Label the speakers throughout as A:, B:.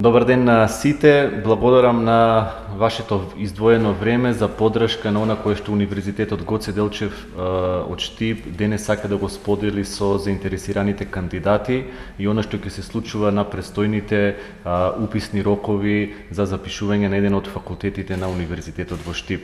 A: Добар ден на сите, благодарам на вашето издвоено време за поддршка на она кое што Универзитетот Гоце Делчев од Штип денес сака да го сподели со заинтересираните кандидати и она што ќе се случува на престојните уписни рокови за запишување на еден од факултетите на Универзитетот во Штип.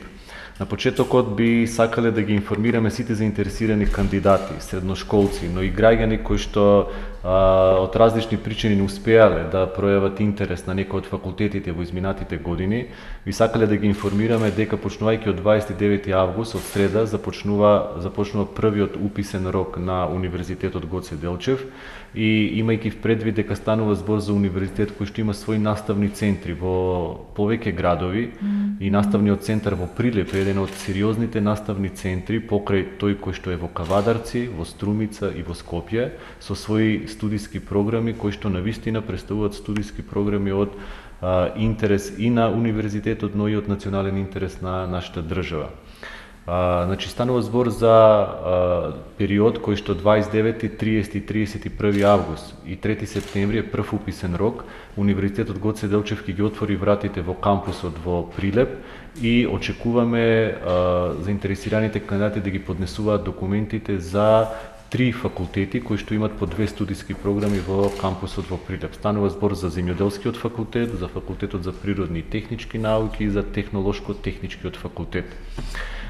A: На почетокот би сакале да ги информираме сите заинтересирани кандидати, средношколци, но и граѓани кои што од различни причини не успеале да пројават интерес на некој од факултетите во изминатите години, би сакале да ги информираме дека почнувајќи од 29 август, од среда, започнува првиот уписен рок на Универзитетот Гоце Делчев и имајќи в предвид дека станува збор за универзитет кој што има своји наставни центри во повеќе градови и наставниот центар во Прилеп е еден од сериозните наставни центри покрај тој кој што е во Кавадарци, во Струмица и во Скопје со своји студиски програми кои што навистина представуваат студиски програми од интерес и на универзитетот, но и од национален интерес на нашата држава. Значи станува збор за период кој што 29, 30 и 31 август и 3 септември е прв уписен рок. Универзитетот Гоце Делчев ќе ги отвори вратите во кампусот во Прилеп и очекуваме заинтересираните кандидати да ги поднесуваат документите за 3 факултети кои што имат по 2 студиски програми во кампусот во Прилеп. Станува збор за земјоделскиот факултет, за факултетот за природни и технички науки и за технолошко-техничкиот факултет.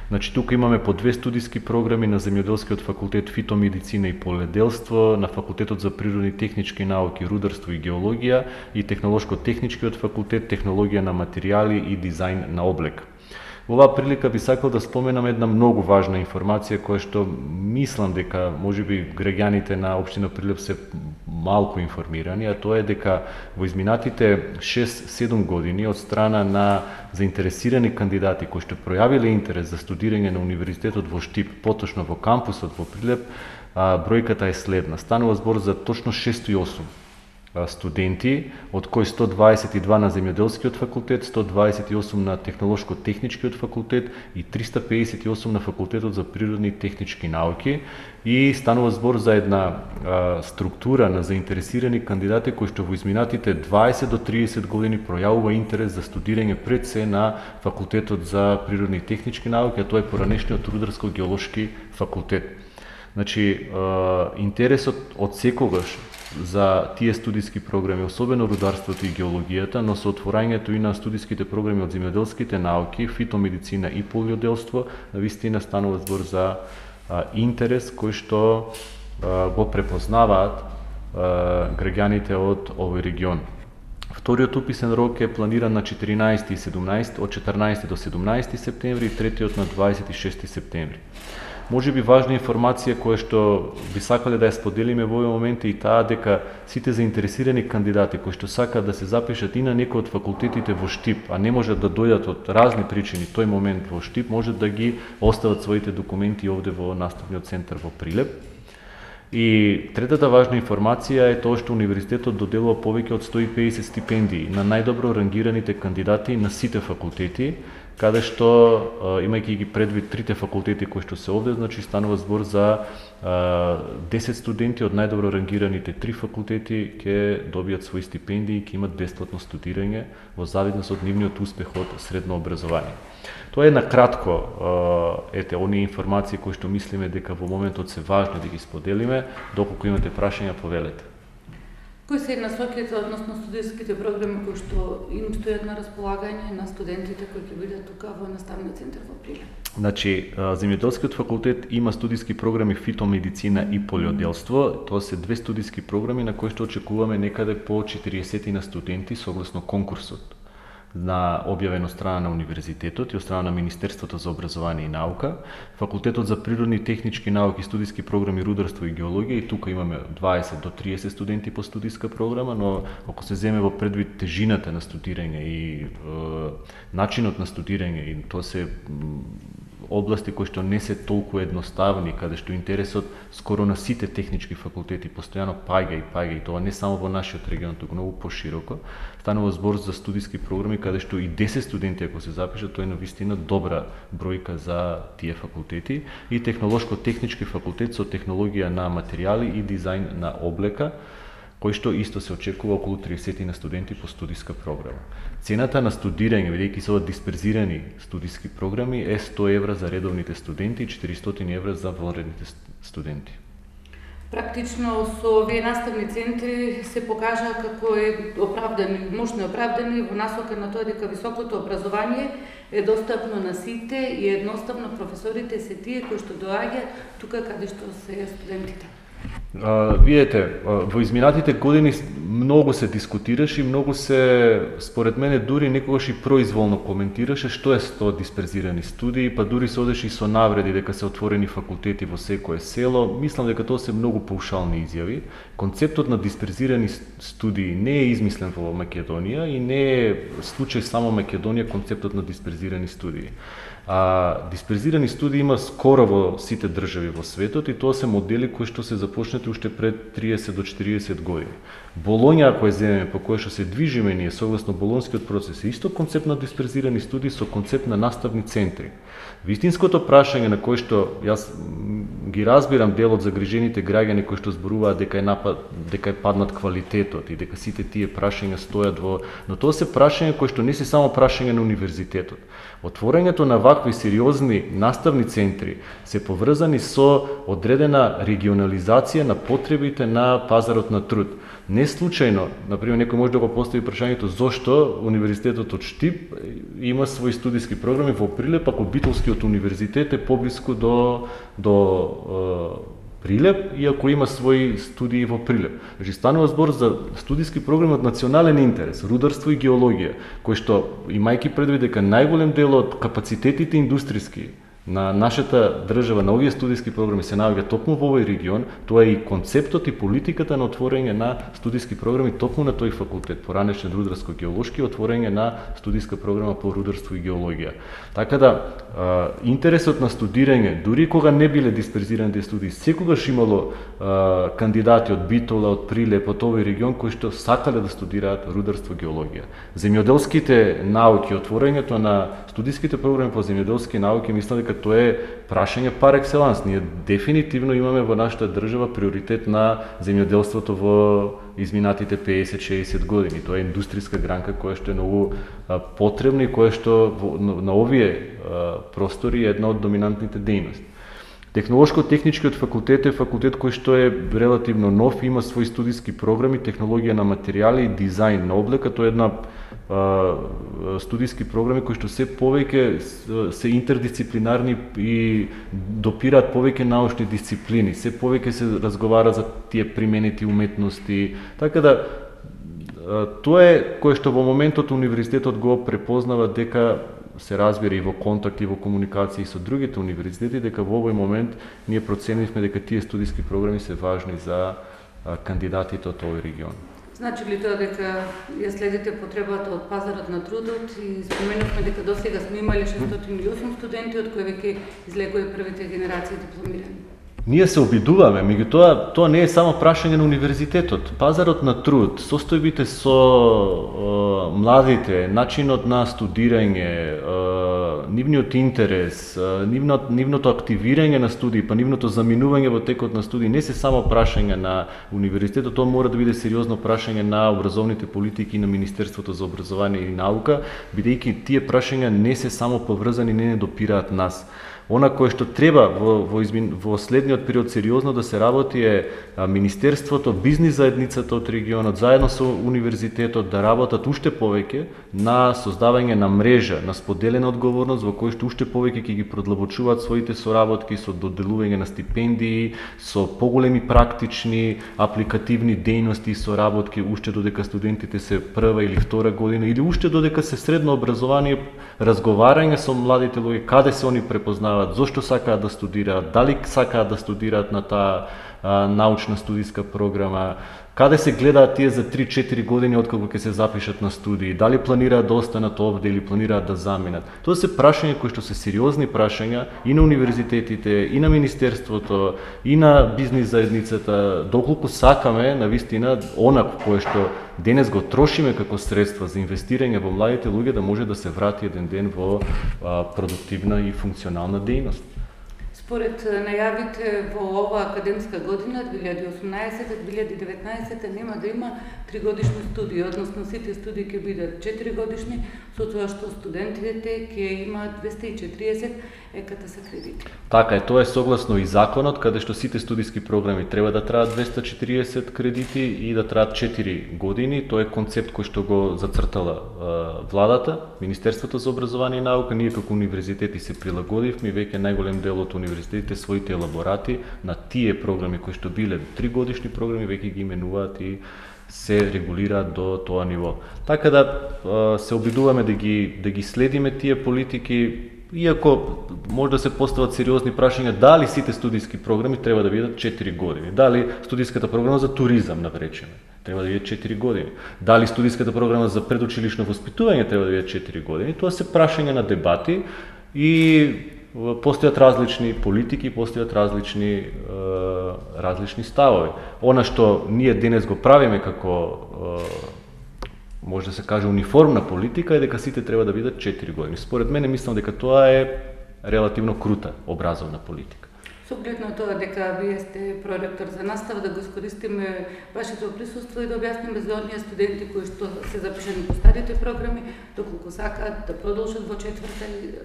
A: Значи тука имаме по 2 студиски програми на земјоделскиот факултет фитомедицина и поледелство, на факултетот за природни и технички науки, рударство и геологија и технолошко-техничкиот факултет технологија на материјали и дизајн на облек. Во оваа прилика би сакал да споменам една многу важна информација која што мислам дека можеби граѓаните на општина Прилеп се малку информирани, а тоа е дека во изминатите 6-7 години од страна на заинтересирани кандидати кои што пројавиле интерес за студирање на Универзитетот во Штип, поточно во кампусот во Прилеп, бројката е следна. Станува збор за точно 608 студенти, од кои 122 на земјоделскиот факултет, 128 на технолошко-техничкиот факултет и 358 на факултетот за природни и технички науки, и станува збор за една структура на заинтересирани кандидати кои што во изминатите 20 до 30 години пројавува интерес за студирање пред се на факултетот за природни и технички науки, а тоа е поранешниот рударско-геолошки факултет. Значи, интересот од секогаш за тие студиски програми, особено рударството и геологијата, но со отворањето и на студиските програми од земјоделските науки, фитомедицина и полиоделство, навистина станува збор за интерес кој што го препознаваат граѓаните од овој регион. Вториот уписен рок е планиран на 14 и 17, од 14 до 17 септември и третиот на 26 септември. Може би важна информација која што би сакале да ја споделиме во овој момент е и таа дека сите заинтересирани кандидати кои што сакаат да се запишат и на некој од факултетите во Штип, а не можат да дојдат од разни причини тој момент во Штип, можат да ги остават своите документи овде во наставниот центар во Прилеп. И третата важна информација е тоа што Универзитетот доделува повеќе од 150 стипендии на најдобро рангираните кандидати на сите факултети, каде што, имајќи ги предвид трите факултети кои што се овде, значи станува збор за 10 студенти од најдобро рангираните 3 факултети ќе добијат своји стипендии и ќе имат бесплатно студирање во зависност од нивниот успех од средно образование. Тоа е на кратко, оние информации кои што мислиме дека во моментот се важни да ги споделиме. Доколку имате прашања, повелете.
B: Кои се насоките, односно студиските програми кои што им стојат на располагање на студентите кои ќе бидат тука во наставниот центар во Прилеп? Значи,
A: земјоделскиот факултет има студиски програми фитомедицина и полиоделство. Тоа се 2 студиски програми на кои што очекуваме некаде по 40 на студенти согласно конкурсот на објавено страна на Универзитетот и од страна на Министерството за образование и наука. Факултетот за природни и технички науки, студиски програми рударство и геологија, и тука имаме 20 до 30 студенти по студиска програма, но ако се земе во предвид тежината на студирање и начинот на студирање, и тоа се области кои што не се толку едноставни, каде што интересот скоро на сите технички факултети постојано паѓа и тоа не само во нашиот регион, туку многу пошироко. Станува збор за студиски програми каде што и 10 студенти ако се запишат, тоа е навистина добра бројка за тие факултети, и технолошко-технички факултет со технологија на материјали и дизајн на облека, кој што исто се очекува околу 30 на студенти по студиска програма. Цената на студирање, бидејќи се дисперзирани студиски програми, е 100 евра за редовните студенти и 400 евра за вонредните студенти.
B: Практично со овие наставни центри се покажа како е оправдани, можно оправдани во насока на тоа дека високото образование е достапно на сите и едноставно професорите се тие кои што доаѓаат тука каде што се студентите.
A: Видете, во изминатите години многу се дискутираше и многу се, според мене, дури некогаш и произволно коментираше што е тоа дисперзирани студии, па дури се одеше и со навреди дека се отворени факултети во секое село. Мислам дека тоа се многу паушални изјави. Концептот на дисперзирани студии не е измислен во Македонија и не е случај само Македонија концептот на дисперзирани студии. Дисперзирани студии има скоро во сите држави во светот и тоа се модели кои што се започнати уште пред 30 до 40 години. Болоња, ако ја земеме, по која што се движиме ние согласно болонскиот процес, е исто концепт на дисперзирани студии со концепт на наставни центри. Вистинското прашање на кој што јас ги разбирам дел од загрижените граѓани кои што зборуваат дека е паднат квалитетот и дека сите тие прашања стојат во, но тоа се прашања кои што не се само прашање на универзитетот. Отворањето на вакви сериозни наставни центри се поврзани со одредена регионализација на потребите на пазарот на труд. Не случајно, например, некој може да го постави прашањето зошто Универзитетот од Штип има своји студиски програми во Прилеп, ако Битолскиот универзитет е поблиску до Прилеп, иако има своји студии во Прилеп. Значи, станува збор за студиски програми од национален интерес, рударство и геологија, кој што, имајќи предвид дека најголем дел од капацитетите индустријски на нашата држава, на овие студиски програми се наоѓа токму во овој регион, тоа е и концептот и политиката на отворање на студиски програми токму на тој факултет, поранешен рударско-геолошки, отворање на студиска програма по рударство и геологија. Така да, интересот на студирање, дури кога не биле дисперзираните студии, секогаш имало кандидати од Битола, од Прилеп, од овој регион кои што сакале да студираат рударство и геологија. Земјоделските науки, отворањето на студиските програми по земјоделски науки, мислам дека тоа е прашање пар екселанс. Ние дефинитивно имаме во нашата држава приоритет на земјоделството во изминатите 50-60 години. Тоа е индустријска гранка која што е многу потребна и која што на овие простори е една од доминантните дејности. Технолошко-техничкиот факултет е факултет кој што е релативно нов, има своји студиски програми, технологија на материјали и дизајн на облека. Тоа е една студиски програми кои што се повеќе се интердисциплинарни и допираат повеќе научни дисциплини, се повеќе се разговара за тие применети уметности. Така да, тоа е кое што во моментот универзитетот го препознава дека се разбира и во контакт и во комуникација со другите универзитети, дека во овој момент ние проценивме дека тие студиски програми се важни за кандидатите од овој регион.
B: Значи ли тоа дека ја следите потребата од пазарот на трудот и споменавме дека досега сме имали 608 студенти, од кои веќе излегува првите генерации дипломирани?
A: Ние се обидуваме, меѓутоа тоа не е само прашање на универзитетот. Пазарот на труд, состојбите со младите, начинот на студирање, нивниот интерес, нивното активирање на студии, па нивното заминување во текот на студии не се само прашање на универзитетот, тоа мора да биде сериозно прашање на образовните политики на Министерството за образование и наука, бидејќи тие прашања не се само поврзани, не допираат нас. Она кое што треба во следниот период сериозно да се работи е Министерството, бизнис заедницата од регионот, заедно со универзитетот да работат уште повеќе на создавање на мрежа, на споделена одговорност во кој што уште повеќе ќе ги продлабочуваат своите соработки со доделување на стипендии, со поголеми практични, апликативни дејности и соработки уште додека студентите се прва или втора година или уште додека се средно образование, разговарање со младите луѓе, каде се они препознаваат, зошто сакаат да студираат, дали сакаат да студираат на таа научна студиска програма, каде се гледаат тие за 3-4 години откако ќе се запишат на студии, дали планираат да останат овде или планираат да заминат. Тоа се прашања кои што се сериозни прашања и на универзитетите, и на Министерството, и на бизнис заедницата, доколку сакаме навистина она кое што денес го трошиме како средства за инвестирање во младите луѓе да може да се врати еден ден во продуктивна и функционална дејност.
B: Според најавите во оваа академска година 2018-2019 нема да има 3-годишни студии, односно сите студии ќе бидат 4-годишни, со тоа што студентите ќе имаат 240 ЕКТС кредити.
A: Така е, тоа е согласно и законот, каде што сите студиски програми треба да траат 240 кредити и да траат 4 години. Тоа е концепт кој што го зацртала владата, Министерството за образование и наука. Ние како универзитети се прилагодивме, веќе најголем дел од универзитетите своите елаборати на тие програми кои што биле 3-годишни програми веќе ги именуваат и се регулираат до тоа ниво. Така да се обидуваме да ги следиме тие политики, иако може да се постават сериозни прашања дали сите студиски програми треба да бидат 4 години. Дали студиската програма за туризам, напречеме, треба да биде 4 години. Дали студиската програма за предучилишно воспитување треба да биде 4 години. Тоа се прашања на дебати и постојат различни политики, постојат различни ставови. Она што ние денес го правиме како може да се каже униформна политика е дека сите треба да бидат 4 години. Според мене мислам дека тоа е релативно крута образовна политика.
B: Со оглед на тоа дека вие сте проректор за настава, да го искористиме вашето присуство и да објасниме за оние студенти кои што се запишани по старите програми, доколку сакаат да продолжат во четврта и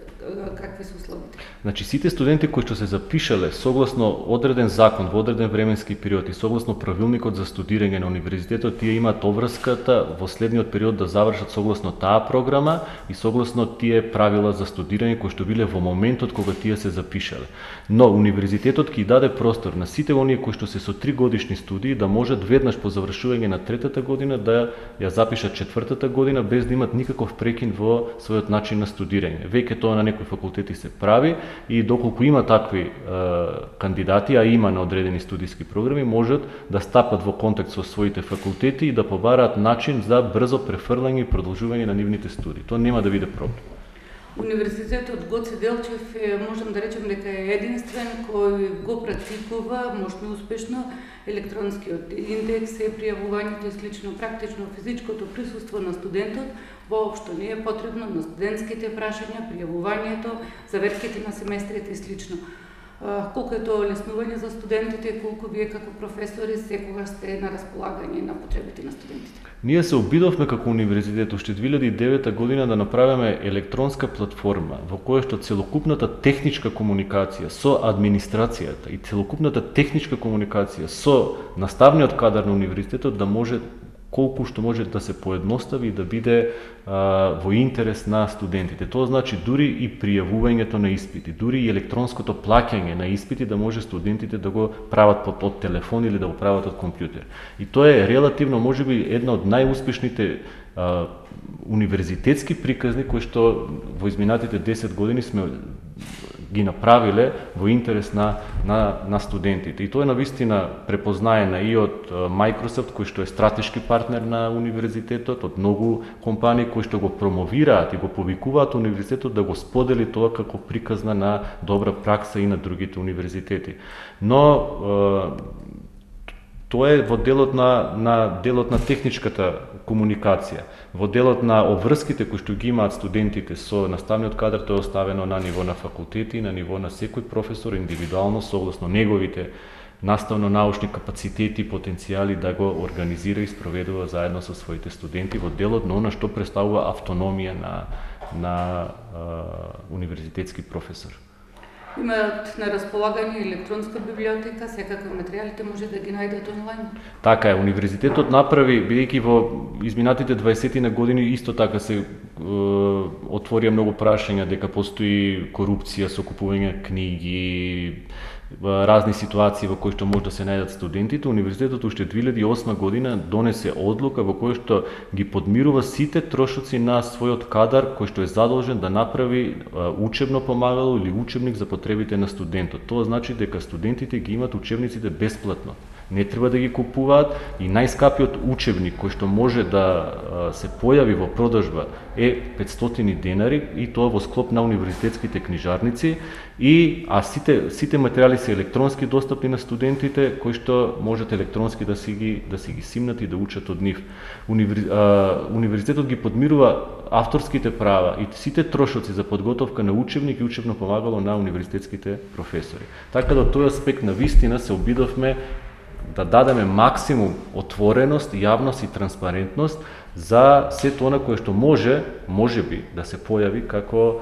B: какви се условите.
A: Значи сите студенти кои што се запишале согласно одреден закон во одреден временски период и согласно правилникот за студирање на универзитетот, тие имаат обврската во следниот период да завршат согласно таа програма и согласно тие правила за студирање кои што биле во моментот кога тие се запишале. Но универзитетот ќе даде простор на сите оние кои што се со 3-годишни студии да можат веднаш по завршување на третата година да ја запишат четвртата година без да имат никаков прекин во својот начин на студирање. Веќе тоа на некои факултети се прави и доколку има такви кандидати, а има на одредени студиски програми, можат да стапат во контакт со своите факултети и да побараат начин за брзо префрлање и продолжување на нивните студии. Тоа нема да биде проблем.
B: Универзитетот Гоце Делчев можам да речем дека е единствен кој го практикува мощно успешно електронскиот индекс, пријавувањето и слично. Практично физичкото присуство на студентот воопшто не е потребно на студентските прашања, пријавувањето, заверките на семестрите и слично. Колку е тоа олеснување за студентите, колку вие како професори секогаш сте на располагање на потребите на студентите?
A: Ние се обидовме како универзитет уште 2009 година да направиме електронска платформа во која што целокупната техничка комуникација со администрацијата и целокупната техничка комуникација со наставниот кадар на универзитетот да може колку што може да се поедностави и да биде во интерес на студентите. Тоа значи дури и пријавувањето на испити, дури и електронското плаќање на испити да може студентите да го прават од телефон или да го прават од компјутер. И тоа е релативно можеби една од најуспешните универзитетски приказни кои што во изминатите 10 години сме ги направиле во интерес на студентите. И тоа е навистина препознаена и од Microsoft, кој што е стратешки партнер на универзитетот, од многу компании кои што го промовираат и го повикуваат универзитетот да го сподели тоа како приказна на добра пракса и на другите универзитети. Но тоа е во делот на техничката комуникација. Во делот на обврските кои што ги имаат студентите со наставниот кадар, тоа е оставено на ниво на факултети, на ниво на секој професор индивидуално согласно неговите наставно-научни капацитети и потенцијали да го организира и спроведува заедно со своите студенти во делот на она што представува автономија на универзитетски професор.
B: Имаат на располагање електронска библиотека, секако материјалите може да ги најдат онлайн.
A: Така е, универзитетот направи, бидејќи во изминатите 20 на години исто така се отворија многу прашања дека постои корупција со купување книги, разни ситуации во кои што може да се најдат студентите. Универзитетот уште 2008 година донесе одлука во која што ги подмирува сите трошоци на својот кадар кој што е задолжен да направи учебно помагало или учебник за потребите на студентот. Тоа значи дека студентите ги имаат учебниците бесплатно. не треба да ги купуваат и најскапиот учебник кој што може да се појави во продажба е 500 денари и тоа во склоп на универзитетските книжарници а сите материјали се електронски достапни на студентите кои што можат електронски да си ги симнат и да учат од нив. Универзитетот ги подмирува авторските права и сите трошоци за подготовка на учебник и учебно помагало на универзитетските професори. Така да од тој аспект на вистина се обидовме да дадеме максимум отвореност, јавност и транспарентност за сето она кое што можеби да се појави како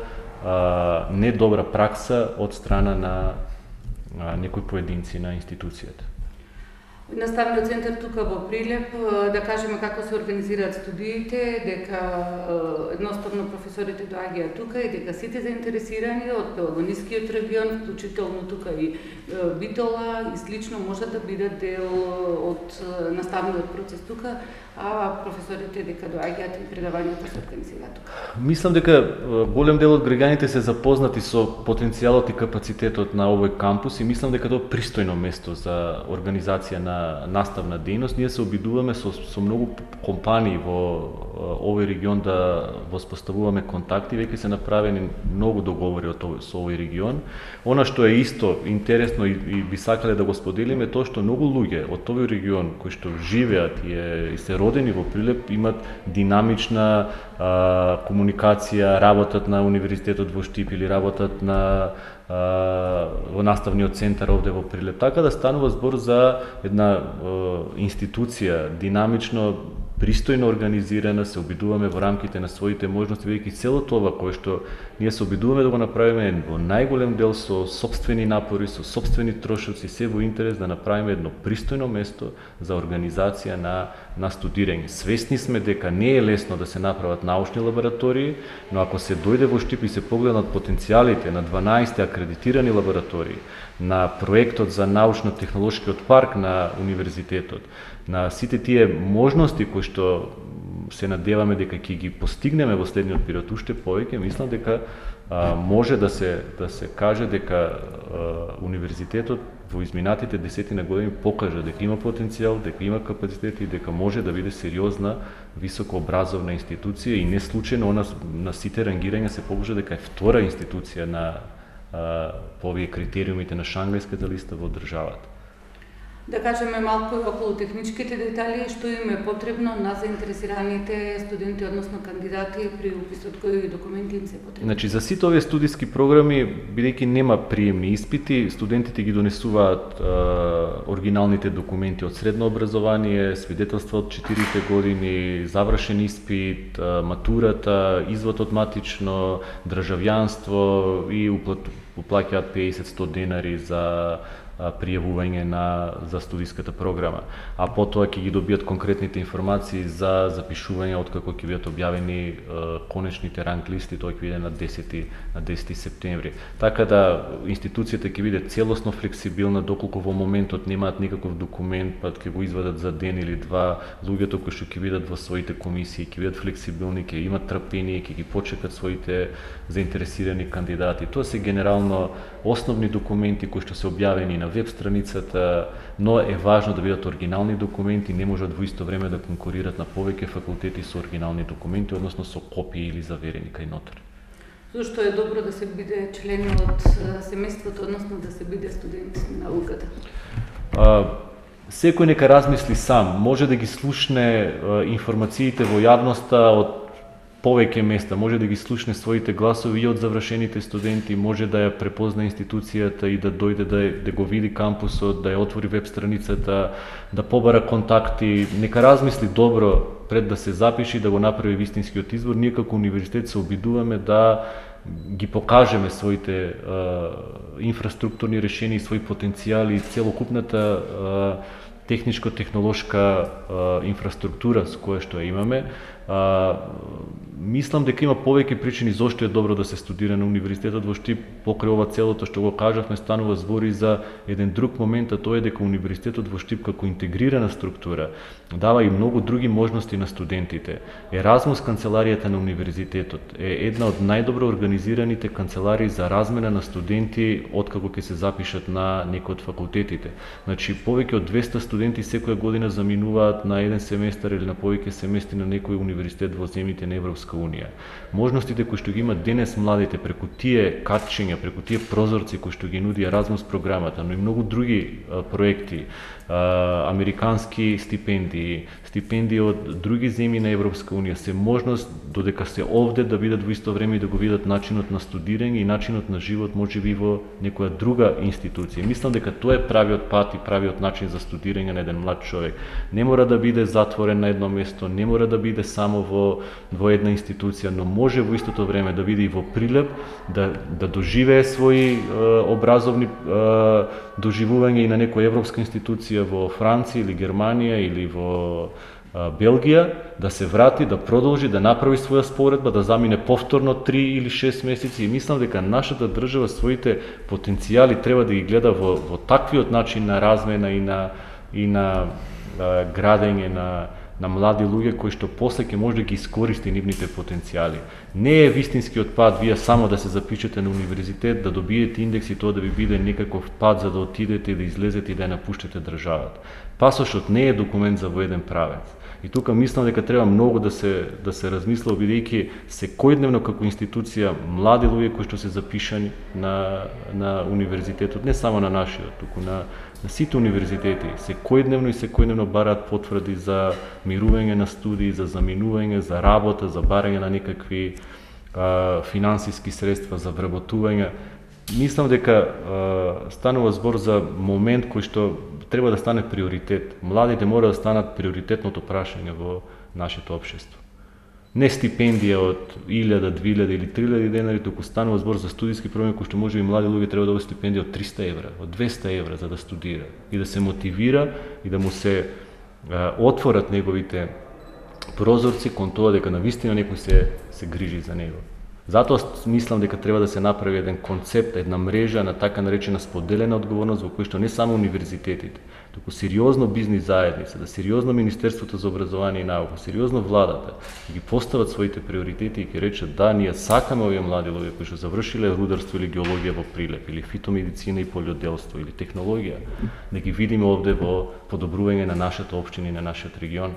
A: недобра пракса од страна на некои поединци на институцијата.
B: Наставниот центар тука во Прилеп, да кажеме како се организираат студиите, дека едноставно професорите доаѓаат тука и дека сите заинтересирани од Пелагонискиот регион, вклучително тука и Битола и слично можат да бидат дел од наставниот процес тука, а професорите дека доаѓаат и предавањата се организираат тука.
A: Мислам дека голем дел од граѓаните се запознати со потенцијалот и капацитетот на овој кампус и мислам дека тоа е пристојно место за организација на наставна дејност. Ние се обидуваме со многу компании во овој регион да воспоставуваме контакти, веќе се направени многу договори со овој регион. Она што е исто интересно и би сакале да го споделиме тоа што многу луѓе од овој регион кои што живеат и се родени во Прилеп имаат динамична комуникација, работат на универзитетот во Штип или работат во наставниот центар овде во Прилеп. Така да станува збор за една институција динамично, пристојно организирана, се обидуваме во рамките на своите можности, бидејќи целото ова кое што ние се обидуваме да го направиме во најголем дел со сопствени напори, со сопствени трошоци, се во интерес да направиме едно пристојно место за организација на студирање. Свесни сме дека не е лесно да се направат научни лаборатории, но ако се дојде во Штип и се погледнат потенцијалите на 12 акредитирани лаборатории, на проектот за научно-технолошкиот парк на универзитетот, на сите тие можности кои што се надеваме дека ќе ги постигнеме во следниот период уште повеќе, мислам дека може да се каже дека универзитетот во изминатите 10 години покажа дека има потенцијал, дека има капацитет и дека може да биде сериозна високообразовна институција и не случајно на сите рангирања се покажа дека е втора институција по овие критериумите на Шангајската листа во државата.
B: Да кажеме малку околу техничките детали, што им е потребно на заинтересираните студенти, односно кандидати при уписот, кои документи им се потребни?
A: Значи, за сите овие студиски програми, бидејќи нема приемни испити, студентите ги донесуваат оригиналните документи од средно образование, свидетелства од 4 години, завршен испит, матурата, извод од матично, државјанство и уплаќаат 50-100 денари за пријавување за студиската програма, а потоа ќе ги добијат конкретните информации за запишување откако ќе бидат објавени конечните ранг листи, тоа ќе биде на 10 септември. Така да институцијата ќе биде целосно флексибилна, доколку во моментот немаат никаков документ, па ќе го извадат за ден или два, луѓето кои што ќе бидат во своите комисии, ќе бидат флексибилни, ќе имат трпение, ќе ги почекат своите заинтересирани кандидати. Тоа се генерално основни документи кои што се објавени на веб страницата, но е важно да бидат оригинални документи, не можат во исто време да конкурират на повеќе факултети со оригинални документи, односно со копии или заверени кај нотари.
B: Зошто е добро да се биде член од семејството, односно да се биде студент на науката?
A: Секој нека размисли сам, може да ги слушне информациите во јавноста од повеќе места, може да ги слушне своите гласови и од завршените студенти, може да ја препозна институцијата и да дојде да го види кампусот, да ја отвори веб страницата, да побара контакти, нека размисли добро пред да се запиши, да го направи вистинскиот избор. Ние како универзитет се обидуваме да ги покажеме своите инфраструктурни решенија и своји потенцијали, целокупната техничко-технолошка инфраструктура с која што ја имаме. Мислам дека има повеќе причини зошто е добро да се студира на универзитетот во Штип. Покрај ова целото што го кажавме, станува збор и за еден друг момент, а тоа е дека универзитетот во Штип како интегрирана структура дава и многу други можности на студентите. Еразмус канцеларијата на универзитетот е една од најдобро организираните канцеларии за размена на студенти откако ќе се запишат на некој од факултетите. Значи повеќе од 200 студенти секоја година заминуваат на еден семестар или на повеќе семестри на некој универзитет во земјите на Европска унија. Можностите кои што ги имат денес младите преку тие катчиња, преку тие прозорци кои што ги нуди Еразмус програмата, но и многу други проекти, американски стипендии од други земји на Европска унија, се можност додека се овде да бидат во исто време и да го видат начинот на студирање и начинот на живот можеби во некоја друга институција. Мислам дека тоа е правиот пат и правиот начин за студирање на еден млад човек. Не мора да биде затворен на едно место, не мора да биде само во една институција, но може во истото време да биде и во Прилеп, да доживее своји образовни доживувања и на некоја европска институција во Франција или Германија или во Белгија, да се врати, да продолжи, да направи своја споредба, да замине повторно 3 или 6 месеци и мислам дека нашата држава своите потенцијали треба да ги гледа во таквиот начин на размена и на градење на млади луѓе кои што после ќе може да ги искористи нивните потенцијали. Не е вистинскиот пат вие само да се запишете на универзитет, да добиете индекс и тоа да ви биде некаков пат за да отидете и да излезете и да ја напуштите државата. Пасошот не е документ за воеден правец. И тука мислам дека треба многу да се размисла, бидејќи секојдневно како институција млади луѓе кои што се запишани на универзитетот, не само на нашиот, туку на сите универзитети, секојдневно бараат потврди за мирување на студии, за заминување, за работа, за барање на некакви финансиски средства, за вработување. Мислам дека станува збор за момент кој што треба да стане приоритет. Младите мора да станат приоритетното прашање во нашето општество. Не стипендија од 1000, 2000 или 3000 денари, туку станува збор за студиски програми кои што може и млади луѓе треба да добијат стипендија од 300 евра, од 200 евра за да студира и да се мотивира и да му се отворат неговите прозорци кон тоа дека навистина некој се грижи за него. Затоа мислам дека треба да се направи еден концепт, една мрежа на така наречена споделена одговорност во кој што не само универзитетите, туку сериозно бизнис заедница, да сериозно Министерството за образование и наука, сериозно владата ги постават своите приоритети и ќе речат да, ние сакаме овие млади луѓе кои што завршиле рударство или геологија во Прилеп, или фитомедицина и полјоделство, или технологија, да ги видиме овде во подобрување на нашата општина и на нашиот регион.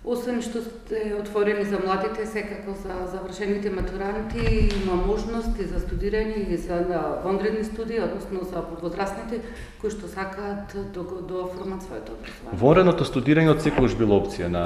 B: Освен што сте отворени за младите, секако за завршените матуранти, има можности за студирање и за вонредни студии, односно за возрастните кои што сакаат да оформат своето образование.
A: Вонредното студирање од секогаш било опција на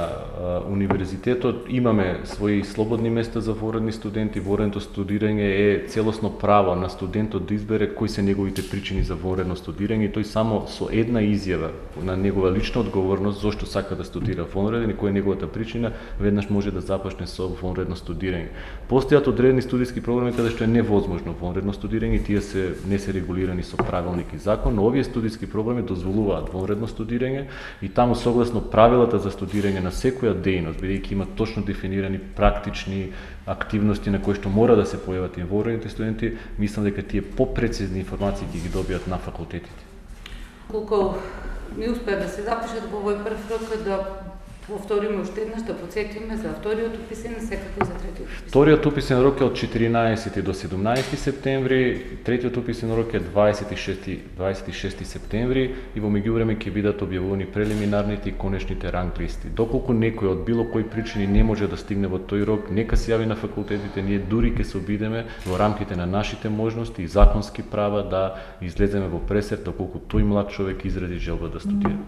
A: универзитетот. Имаме своји слободни места за вонредни студенти. Вонредното студирање е целосно право на студентот да избере кои се неговите причини за вонредно студирање и тој само со една изјава на негова лична одговорност зошто сака да студира вонреден и кој е неговата причина, веднаш може да започне со вонредно студирање. Постојат одредени студиски програми каде што е невозможно вонредно студирање и тие не се регулирани со правилник и закон, но овие студиски програми дозволуваат вонредно студирање и таму согласно правилата за студирање на секоја дејност, бидејќи има точно дефинирани практични активности на кои што мора да се појават и вонредните студенти, мислам дека тие попрецизни информации ќе ги добијат на факултетите.
B: Колку ми успеа да се запишат во овој прв рок, да повториме уште еднаш, да подсетиме за вториот уписен, секако и за третиот уписен.
A: Вториот уписен рок е од 14 до 17 септември, третиот уписен рок е 26 септември и во меѓувреме ќе бидат објавувани прелиминарните и конечните ранг листи. Доколку некој од било кои причини не може да стигне во тој рок, нека се јави на факултетите, ние дури ќе се обидеме во рамките на нашите можности и законски права да излеземе во пресер доколку тој млад човек изрази желба да студира.